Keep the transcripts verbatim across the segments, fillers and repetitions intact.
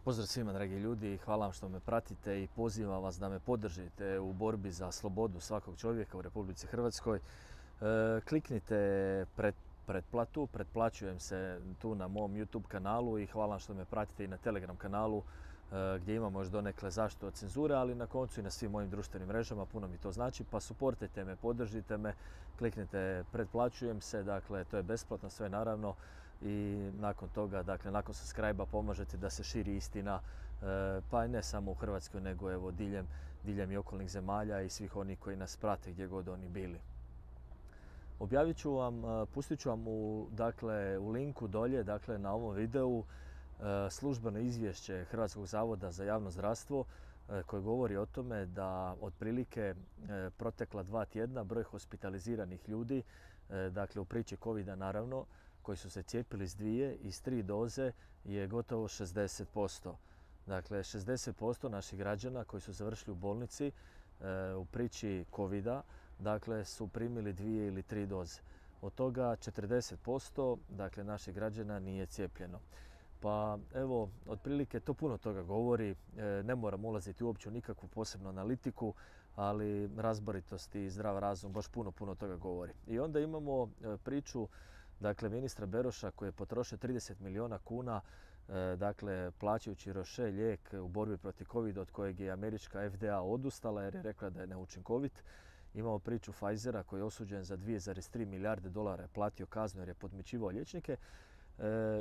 Pozdrav svima, dragi ljudi, hvala vam što me pratite i pozivam vas da me podržite u borbi za slobodu svakog čovjeka u Republici Hrvatskoj. E, kliknite pred, pretplatu, pretplaćujem se tu na mom YouTube kanalu i hvala vam što me pratite i na Telegram kanalu e, gdje imamo još donekle zaštitu od cenzure, ali na koncu i na svim mojim društvenim mrežama, puno mi to znači, pa suportajte me, podržite me, kliknite pretplaćujem se, dakle to je besplatno sve naravno. I nakon toga, dakle nakon subscribe-a pomažete da se širi istina, pa i ne samo u Hrvatskoj nego evo diljem, diljem i okolnih zemalja i svih onih koji nas prate gdje god oni bili. Objavit ću vam, pustit ću vam u, dakle, u linku dolje, dakle na ovom videu službeno izvješće Hrvatskog zavoda za javno zdravstvo koje govori o tome da otprilike protekla dva tjedna broj hospitaliziranih ljudi, dakle u priči covida naravno, koji su se cijepili s dvije i s tri doze je gotovo šezdeset posto. Dakle, šezdeset posto naših građana koji su završili u bolnici e, u priči covida, dakle, su primili dvije ili tri doze. Od toga četrdeset posto dakle, naših građana nije cijepljeno. Pa evo, otprilike to puno toga govori, e, ne moram ulaziti uopće u nikakvu posebnu analitiku, ali razboritost i zdrav razum baš puno, puno toga govori. I onda imamo e, priču dakle ministra Beroša koji je potrošio trideset milijuna kuna dakle plaćajući Roche lijek u borbi protiv covida od kojeg je američka F D A odustala jer je rekla da je neučinkovit. Imamo priču Pfizera koji je osuđen za dvije zarez tri milijarde dolara, je platio kaznu jer je podmićivao liječnike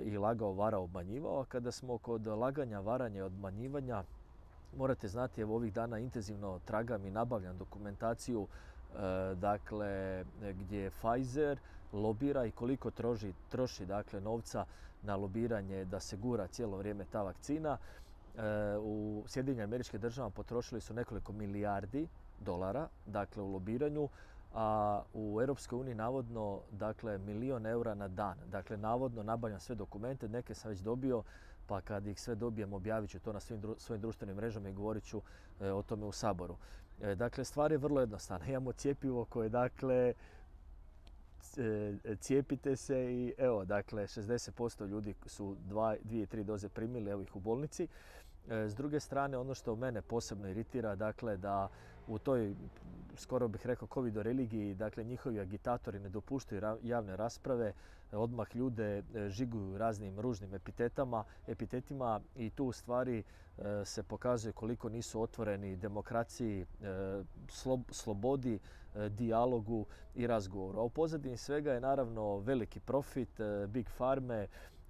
i lagao, varao, obmanjivao. A kada smo kod laganja, varanja i obmanjivanja, morate znati, evo ovih dana intenzivno tragam i nabavljam dokumentaciju dakle gdje Pfizer lobira i koliko troši, troši dakle novca na lobiranje da se gura cijelo vrijeme ta vakcina. U Sjedinjenim Američkim Državama potrošili su nekoliko milijardi dolara dakle u lobiranju, a u Europskoj uniji navodno dakle milijon eura na dan. Dakle navodno nabavljam sve dokumente, neke sam već dobio, pa kad ih sve dobijem objavit ću to na svim dru svojim društvenim mrežama i govorit ću e, o tome u Saboru. E, dakle stvar je vrlo jednostavna. Imamo cjepivo koje dakle cijepite se i evo dakle šezdeset posto ljudi su dva, dvije i tri doze primili, evo ih u bolnici. S druge strane, ono što mene posebno iritira, dakle da u toj, skoro bih rekao, covido religiji, dakle njihovi agitatori ne dopuštaju javne rasprave, odmah ljude žiguju raznim ružnim epitetama, epitetima i tu u stvari se pokazuje koliko nisu otvoreni demokraciji, slobodi, dijalogu i razgovoru. A u pozadini svega je naravno veliki profit, big farme,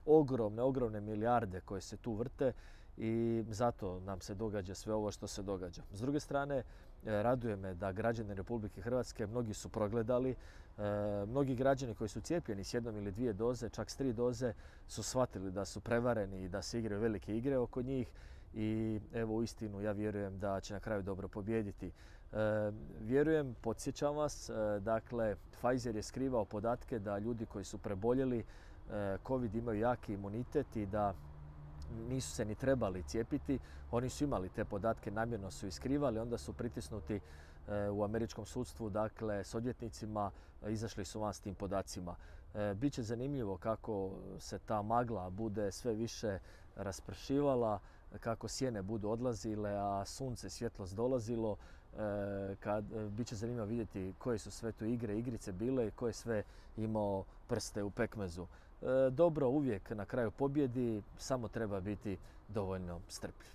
ogromne, ogromne milijarde koje se tu vrte i zato nam se događa sve ovo što se događa. S druge strane, raduje me da građani Republike Hrvatske, mnogi su progledali, mnogi građani koji su cijepljeni s jednom ili dvije doze, čak s tri doze, su shvatili da su prevareni i da se igraju velike igre oko njih i evo uistinu ja vjerujem da će na kraju dobro pobijediti. Vjerujem, podsjećam vas, dakle Pfizer je skrivao podatke da ljudi koji su preboljeli COVID imaju jaki imunitet i da nisu se ni trebali cijepiti. Oni su imali te podatke, namjerno su ih skrivali, onda su pritisnuti u američkom sudstvu, dakle s odvjetnicima, izašli su van s tim podacima. Biće zanimljivo kako se ta magla bude sve više raspršivala, kako sjene budu odlazile, a sunce, svjetlost dolazilo. Kad, biće zanimljivo vidjeti koje su sve tu igre, igrice bile i ko je sve imao prste u pekmezu. Dobro uvijek na kraju pobjedi, samo treba biti dovoljno strpljiv.